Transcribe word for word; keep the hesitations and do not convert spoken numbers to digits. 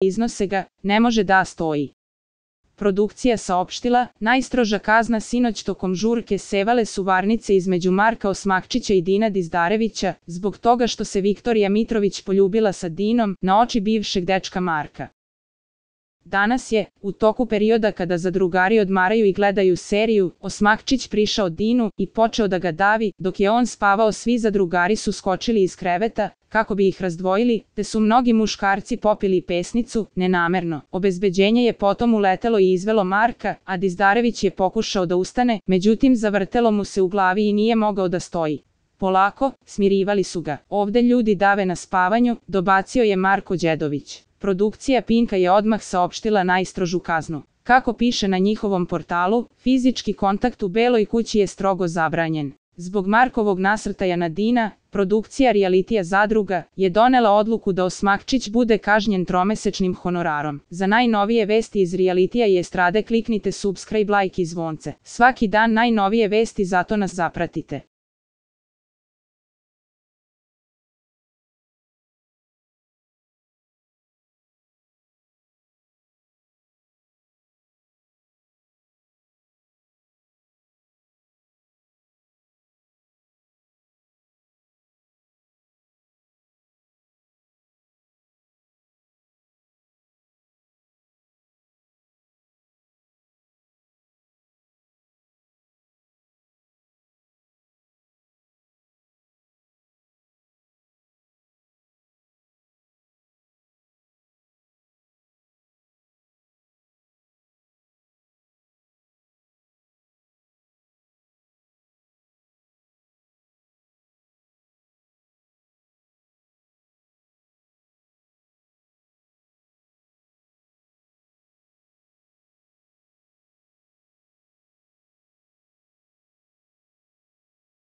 iznose ga, ne može da stoji. Produkcija saopštila, najstroža kazna sinoć tokom žurke sevale su varnice između Marka Osmakčića i Dina Dizdarevića, zbog toga što se Viktorija Mitrović poljubila sa Dinom, na oči bivšeg dečka Marka. Danas je, u toku perioda kada zadrugari odmaraju i gledaju seriju, Osmakčić prišao Dinu i počeo da ga davi, dok je on spavao svi zadrugari su skočili iz kreveta, kako bi ih razdvojili, te su mnogi muškarci popili pesnicu, nenamerno. Obezbeđenje je potom uletelo i izvelo Marka, a Dizdarević je pokušao da ustane, međutim zavrtelo mu se u glavi i nije mogao da stoji. Polako, smirivali su ga. Ovde ljudi dave na spavanju, dobacio je Marko Đedović. Produkcija Pinka je odmah saopštila najstrožu kaznu. Kako piše na njihovom portalu, fizički kontakt u Beloj kući je strogo zabranjen. Zbog Markovog nasrtaja na Dina, produkcija realitija Zadruga je donela odluku da Osmakčić bude kažnjen tromesečnim honorarom. Za najnovije vesti iz realitija i estrade kliknite subscribe, like i zvonce. Svaki dan najnovije vesti, zato nas zapratite.